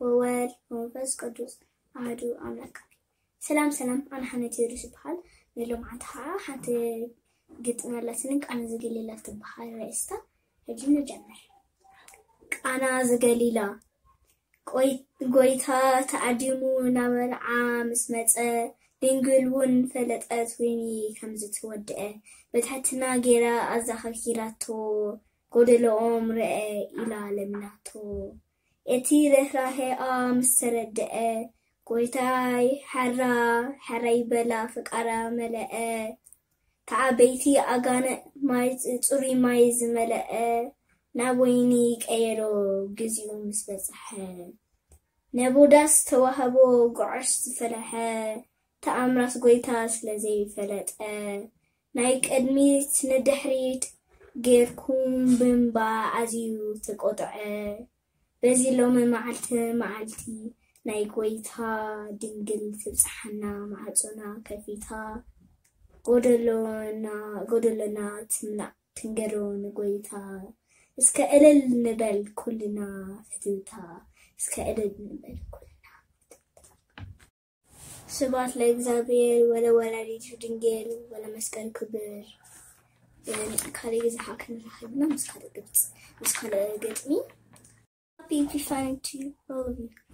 ወወልድ ወመንፈስ ቅዱስ ኣሐዱ ኣምላክ። ሰላም ሰላም፣ ኣነ ሓነት ቴዎድሮስ ይበሃል። ንሎማዓንቲ ከዓ ሓንቲ ግጥሚ ኣላትኒ፣ ቃና ዘገሊላ ትበሃል ርእስታ። ሕጂ ንጀምር። ቃና ዘገሊላ። ቆይ-፣ ጎይታ ተዓዲሙ ናብ መርዓ ምስ መጸ፣ ድንግል እውን ፈለጠት ወይኒ ከም ዝተወድአ። ብትሕትና ገይራ ኣዘኻኺራቶ፣ ጎደሎኦም ርአ ኢላ ለሚናቶ። እቲ ርህራሄኣ ምስ ተረድአ፣ ጎይታይ ሓራ፣ ሓራ ይበላ፣ ፍቃራ መለአ። ተዓበይቲ ኣጋንንት ማይ፣ ጽሩይ ማይ ዝመለአ፣ ናብ ወይኒ ቀየሮ ግዜኡ ምስ በጽሐ። ነቡዳስ ተዋህቦ ጉዕሽ ዝፈለሐ፣ ተኣምራት ጎይታ ስለ ዘይፈለጠ። ናይ ቅድሚት ንድሕሪት ጌርኩም ብምባ ኣዝዩ ተቆጥዐ። በዚ ሎሚ መዓልቲ መዓልቲ ናይ ጎይታ ድንግል ትብጽሓና ማዕጾና ከፊታ። ጎደሎና፣ ጎደሎና ትምላእ ትንገሮ ንጎይታ። እስከ እልል ንበል ኩልና ፍትውታ። እስከ እልል ንበል ኩልና። ስብሐት ለእግዚኣብሔር ወለወላዲቱ ድንግል ወለመስቀሉ ክቡር። በሚቀጥለው ጊዜ ክንራኸብና ምስ ካልእ ግብጽ-፣ ምስ ካልእ ግጥሚ። Happy Epiphany to all of you.